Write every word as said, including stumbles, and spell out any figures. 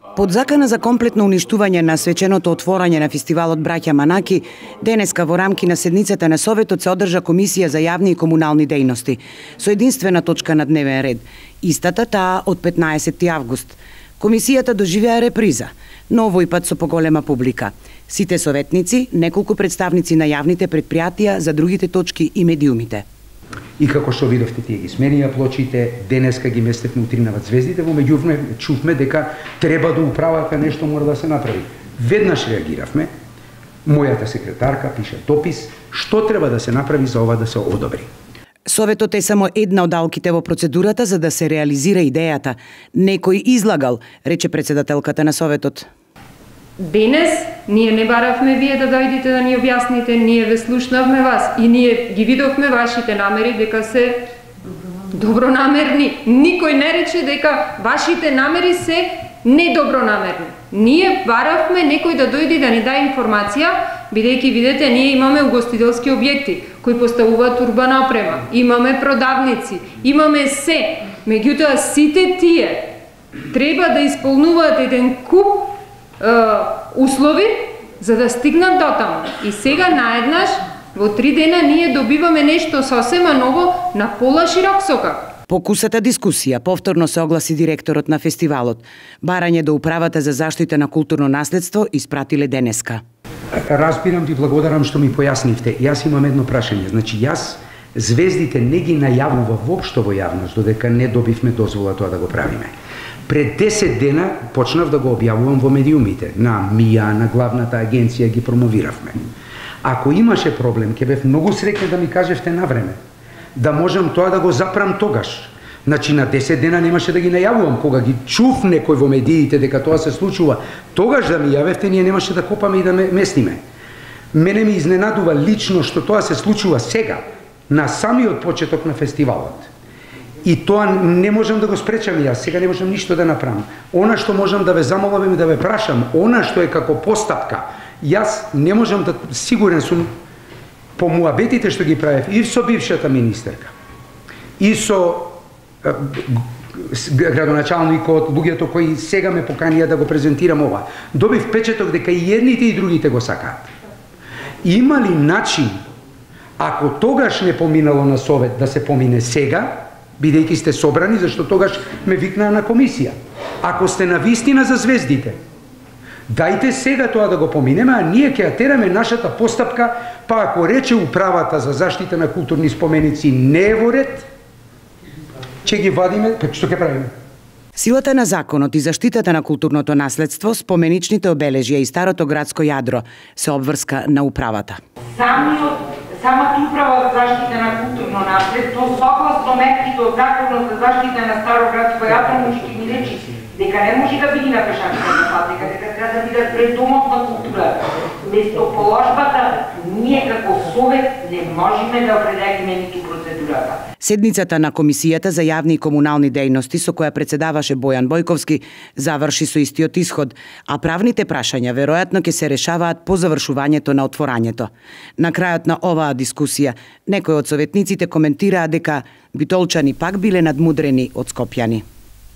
Под закана за комплетно уништување на свеченото отворање на фестивалот Браќа Манаки, денеска во рамки на седницата на Советот се одржа Комисија за јавни и комунални дејности, со единствена точка на дневен ред, истата таа од петнаесетти август. Комисијата доживеа реприза, но овој пат со поголема публика. Сите советници, неколку представници на јавните предпријатија за другите точки и медиумите. И како што видовте, тие ги сменија плочите, денеска ги местевме утринават звездите, во меѓувреме чувме дека треба да управата нешто мора да се направи. Веднаш реагиравме, мојата секретарка пише допис, што треба да се направи за ова да се одобри. Советот е само една од алките во процедурата за да се реализира идејата. Некој излагал, рече председателката на Советот. Денес ние не баравме вие да дојдете да ни објасните, ние ве слушнавме вас и ние ги видовме вашите намери дека се добронамерни. Никој не рече дека вашите намери се недобронамерни. Ние баравме некој да дојде да ни даде информација, бидејќи видете ние имаме угостителски објекти кои поставуваат урбана опрема, имаме продавници, имаме се. Меѓутоа сите тие треба да исполнуваат еден куп услови за да стигнат до таму. И сега наеднаш во три дена ние добиваме нешто сосема ново на пола широк сокак. Покусата дискусија повторно се огласи директорот на фестивалот. Барање до управата за заштита на културно наследство испратиле денеска. Разбирам, ви благодарам што ми појаснивте. Јас имам едно прашање. Значи јас звездите не ги најавува воопшто во јавност додека не добивме дозвола тоа да го правиме. Пред десет дена почнав да го објавувам во медиумите. На МИА, на главната агенција ги промовиравме. Ако имаше проблем, ќе бев многу среќен да ми кажевте на време. Да можам тоа да го запрам тогаш. Значи на десет дена немаше да ги најавувам. Кога ги чув некој во медиите дека тоа се случува, тогаш да ми јавевте, ние немаше да копаме и да местиме. Мене ми изненадува лично што тоа се случува сега, на самиот почеток на фестивалот. И тоа не можам да го спречам јас, сега не можам ништо да направам. Она што можам да ве замолам и да ве прашам, она што е како постапка, јас не можам да, сигурен сум, по муабетите што ги правев и со бившата министерка, и со е, градоначалникот, луѓето кои сега ме поканија да го презентирам ова, добив печеток дека и едните и другите го сакаат. Има ли начин, ако тогаш не поминало на Совет, да се помине сега, бидејќи сте собрани, зашто тогаш ме викнаа на комисија. Ако сте на вистина за звездите, дајте сега тоа да го поминеме, а ние ќе ја тераме нашата постапка, па ако рече управата за заштита на културни споменици не е во ред, ќе ги вадиме, па што ќе правиме? Силата на законот и заштитата на културното наследство, споменичните обележја и старото градско јадро се обврска на управата. Самиот Самата управа за заштита на културно наследство, согласно мерките од Законот за заштита на старо градско јадро, може ќе ни речи дека не може да биде на пешачката патека, дека треба да биде пред домот на културата. Место положбата, ние како Совет не можеме да определиме ниту процедурата. Седницата на Комисијата за јавни и комунални дејности, со која председаваше Бојан Бојковски, заврши со истиот исход, а правните прашања веројатно ќе се решаваат по завршувањето на отворањето. На крајот на оваа дискусија, некои од советниците коментираа дека битолчани пак биле надмудрени од скопјани.